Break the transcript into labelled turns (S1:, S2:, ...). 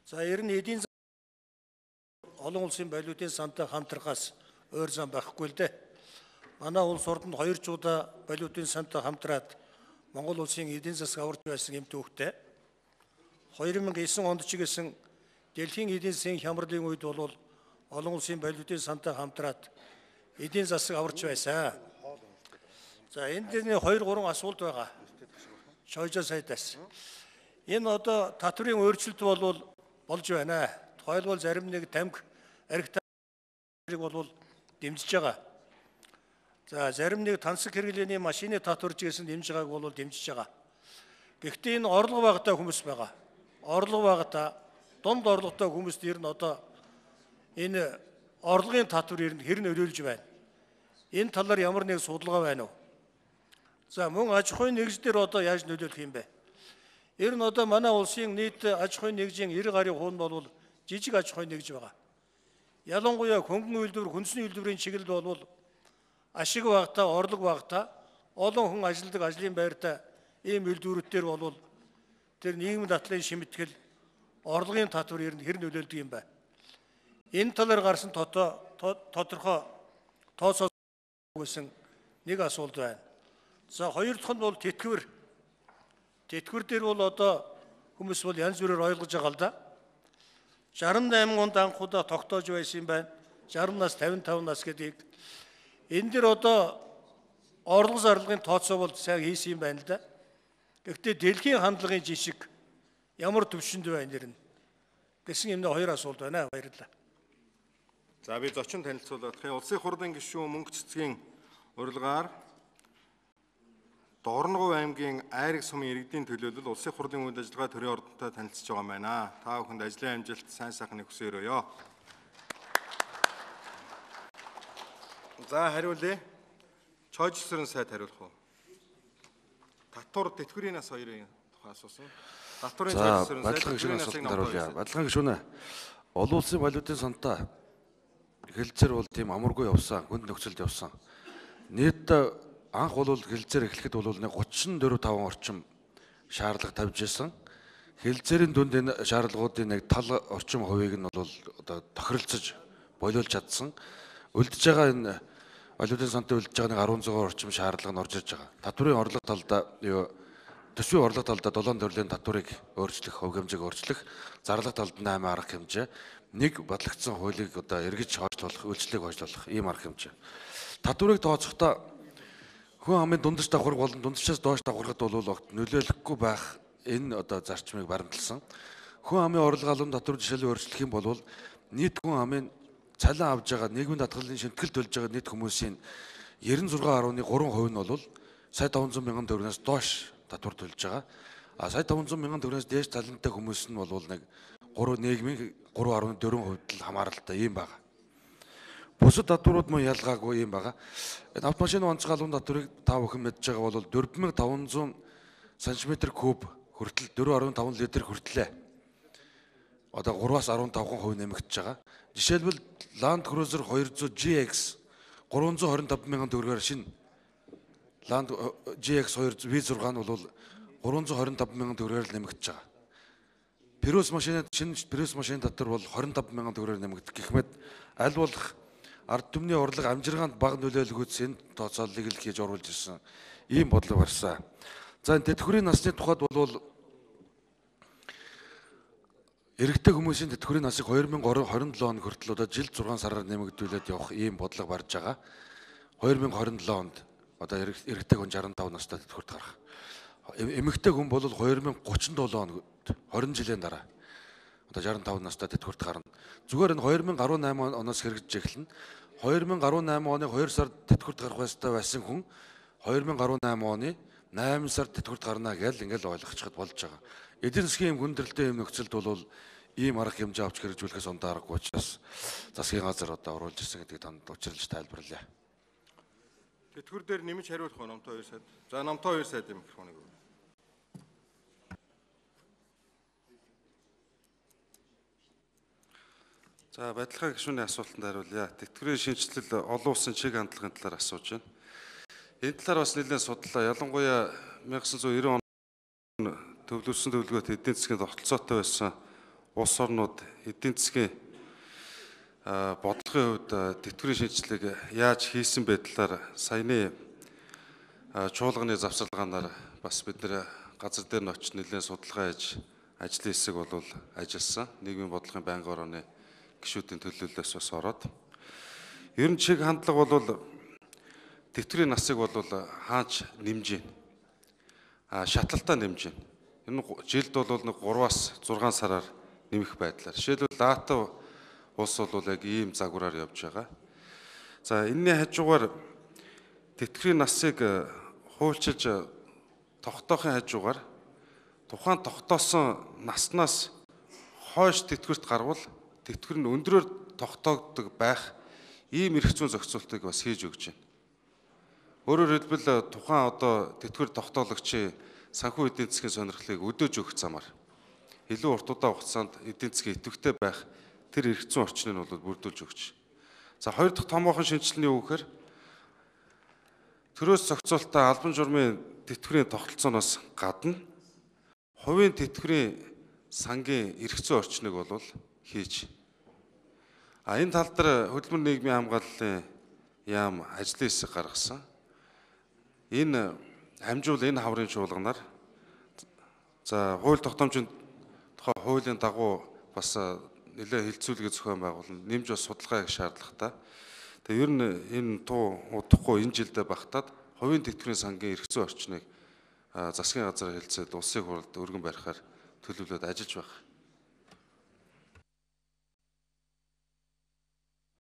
S1: За ер нь эдийн олон улсын валютын сантай хамтрахаас өөр зам байхгүй л дээ. Манай улс орнд 2 жуудаа валютын сантай хамтраад Монгол улсын эдийн засаг аварч байсан юм төвхтэй. 2009 онд ч гэсэн дэлхийн эдийн засгийн хямралын үед бол олон улсын валютын сантай хамтраад эдийн засаг аварч байсан. За энэ дэрний 2-3 асуулт байгаа. Шойжоо сайдаас. Энэ одоо татврын өөрчлөлт бол болж байна. Тухайлбал зарим нэг тамхи архитектурыг бол дэмжиж байгаа. За зарим нэг тансаг хэрэглээний машины татварч гэсэн дэмжиж байгааг бол дэмжиж байгаа. Гэхдээ энэ орлого багтаа хүмүүс байгаа. Орлого багтаа дунд орлоготой хүмүүст ер нь одоо энэ орлогын татвар ер нь хэр нөлөөлж байна. Энэ талаар ямар нэг судалгаа байна уу? За мөн аж ахуйн нэгж дээр одоо яаж нөлөөлөх юм бэ? Ер нь одоо манай улсын нийт аж ахуйн нэгжийн 90 гаруй хувь нь бол жижиг аж ахуйн нэгж байгаа. Ялангуяа хөнгөн үйлдвэр, хүнсний үйлдвэрийн чиглэлд бол ашиг багтаа, орлого багтаа, олон хүн ажилладаг ажлын байртаа ийм үйлдвэрүүдээр бол тэр нийгмийн дадлын шимтгэл, орлогын татвар ер нь хэр нөлөөлдөг юм бэ? Энэ талаар гарсан тодорхой тооцоо гэсэн нэг асуулт байна. За хоёр дахь нь бол тэтгэвэр. Тэтгэвэр дээр бол одоо хүмүүс бол янз бүрээр ойлгож байгаа л да. 68 онд анхудаа тогтоож байсан юм байна. 60 нас, 55 нас гэдгийг. Энэ дэр одоо орлого зарлалгын тооцоо бол сайн хийсэн юм байна л да. Гэхдээ дэлхийн хандлагын жишг ямар төвшөнд байна нэр нь гэсэн юм хоёр асуулт байна. Баярлалаа.
S2: За би зочин танилцуулах. Улсын хурлын гишүүн Мөнгө цэцгийн урилгаар Дорногов аймгийн Айраг сумын иргэдийн төлөөлөл улсын хурлын үйл ажиллагаа төрийн ордонтой танилцж байгаа юм байна. Та бүхэнд ажлын амжилт, сайн сайхныг хүсье өрөөё. За хариулъя. Чойжсрын сайд хариулах уу? Татвар тэтгэврийн нас хоёрын тухай асуусан. Татврын чойжсрын сайд тэтгэврийн насыг
S3: хариулъя. Баталгаан гишүүнэ. Олон улсын валютын сантай хэлэлцээр бол тийм амаргүй явсан, хүнд нөхцөлд явсан. Нийт анх бол хэлэлцээр эхлэхэд бол 34-5 орчим шаардлага тавьж исэн. Хэлэлцээрийн дүнд энэ шаардлагуудын нэг тал орчим хувийг нь бол одоо тохиролцож болиулж чадсан. Үлдэж байгаа энэ валютын сантай үлдэж байгаа нэг 16 орчим шаардлага нь орж ирж байгаа. Татврын орлого талдаа төсвийн орлого талдаа 7 төрлийн татварыг өөрчлөх, хөв хэмжээг өөрчлөх, зарлага талд 8 арга хэмжээ, нэг батлагдсан хуулийг одоо эргэж хойшлуулах, үйлчлэгийг хойшлуулах ийм арга хэмжээ. Татварыг тооцохдоо хүн амын дундаж давхар болон дундчаас доош давхархад бол нөлөөлөхгүй байх энэ одоо зарчмыг баримталсан. Хүн амын орлого албан татвар жишээлбэл өөрчлөх юм бол нийт хүн амын цалин авж байгаа нийгмийн даатгалын шимтгэл төлж байгаа нийт хүмүүсийн 96.3% нь бол сая 500 мянган төгрөгөөс доош татвар төлж байгаа. А сая 500 мянган төгрөгөөс дээш цалинтай хүмүүс нь бол нэг нийгмийн 3.4% л хамааралтай юм байна. Бусад татварууд мөн ялгаагүй юм байна. Энэ автомашины онцгой албан татварыг та бүхэн мэдж байгаа бол 4500 см3 хүртэл 4.5 литр хүртлээ. Одоо 3-аас 15% нэмэгдэж байгаа. Жишээлбэл Land Cruiser 200 GX 325 мянган төгрөгөөр шинэ Land GX 200 V6 нь бол 325 мянган төгрөгөөр нэмэгдэж байгаа. Prius машины шинэ Prius машины татвар бол 25 мянган төгрөгөөр нэмэгдэх гэх мэт аль болох ард түмний орлого амжиргаанд бага нөлөөлөхөд энэ тооцооллыг л хийж оруулж ирсэн ийм бодлого барьсан. За энэ тэтгэврийн насны тухайд бол эрэгтэй хүмүүсийн тэтгэврийн насыг 2027 он хүртэл одоо жил 6 сараар нэмэгдүүлээд явах ийм бодлого барьж байгаа. 2027 онд одоо эрэгтэй хүн 65 настай тэтгэврт гарах. Эмэгтэй хүн бол 2037 онд 20 жилийн дараа одоо 65 настай тэтгэврт гарна. Зүгээр энэ 2018 оноос хэрэгжиж эхэлнэ. 2018 оны 2 сард тэтгэврт гарах байсан хүн 2018 оны 8 сард тэтгэврт гарна гэж ингээл ойлгочиход болж байгаа. Эдийн засгийн хүндрэлтэй юм нөхцөлд бол ийм арга хэмжээ авч хэрэгжүүлэхээс ондоо аргагүй учраас засгийн газар одоо оруулж ирсэн гэдгийг танд учруулж тайлбарлая.
S2: Тэтгэвэр дээр нэмж хариулах уу номтой 2 сайд. За номтой 2 сайд юм микрофоныг.
S4: За баталгаа гишүүний асуултанд хариулъя. Тэтгэврийн шинжилэл олон улсын чиг хандлагын талаар асууж байна. Энэ талаар бас нэлээд судлаа. Ялангуяа 1990 он төвлөрсөн төлөвлөгөөт эдийн засгийн тогтолцоотой байсан улс орнууд эдийн засгийн бодлогын хувьд тэтгэврийн шинжилгээг яаж хийсэн байдлаар саяны чуулганы завсарлагаанаар бас бид нэр газар дээр нь очиж нэлээд судалгаа хийж ажлын хэсэг бол ажилласан. Нийгмийн бодлогын байнгын орооны гишүүдийн төлөөллөөс бас ороод. Ер нь чиг хандлага бол тэтгэврийн насыг бол хаач нэмж байна. Шатлалтаа нэмж байна. Энэ жилд бол нэг 3-аас 6 сараар нэмэх байдлаар. Жишээлбэл Латв улс бол яг ийм загвараар явж байгаа. За энэний хажуугаар тэтгэврийн насыг хуульчилж тогтоохын хажуугаар тухайн тогтоосон наснаас хойш тэтгэврт гарвал тэтгэвэр нь өндрөөр тогтоогддог байх ийм эрх зүйн зохицуултыг бас хийж өгч байна. Өөрөөр хэлбэл тухайн одоо тэтгэвэр тогтоолагчийн санхүү эдийн засгийн сонирхлыг өдөөж өгөх замаар илүү урт удаан хугацаанд эдийн засгийн идэвхтэй байх тэр эрх зүйн орчныг нь бол бүрдүүлж өгч. За хоёр дахь томоохон шинжилгээ нь юу гэхээр төрөөс зохицуулалтаа албан журмын тэтгэврийн тогтолцооноос гадна хувийн тэтгэврийн сангийн эрх зүйн орчныг бол хийж. Энэ тал дээр хөдөлмөр нийгмийн хамгааллын яам ажлын хэсэг гаргасан. Энэ хамжуул энэ хаврын чуулганаар за хууль тогтоомжийн тухай хуулийн дагуу бас нэлээд хилцүүлгээ зохион байгуулна. Нэмж бас судалгаа хийх шаардлагатай. Тэгээ ер нь энэ туу удахгүй энэ жилдээ багтаад хувийн тэтгэврийн сангийн эрх зүйн орчныг засгийн газар хэлцээд улсын хурлд өргөн барихаар төлөвлөд ажиллаж байгаа.